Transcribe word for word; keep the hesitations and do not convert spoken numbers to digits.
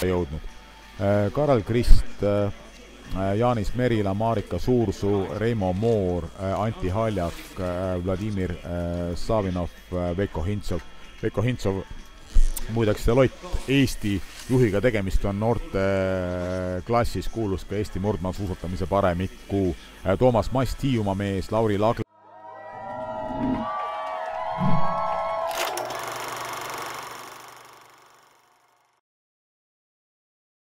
jõudnud. Karel Krist, Jaanis Merila, Marika Suursuu, Reimo Moor, Anti Haljak, Vladimir Savinov, Veiko Hintsov. Veiko Hintsov, muideks Deloitte Eesti juhiga tegemist on noorte klassis, kuulus ka Eesti murdmaasuusatamise paremikku. Toomas Mast, Hiiumaa mees, Lauri Laagla.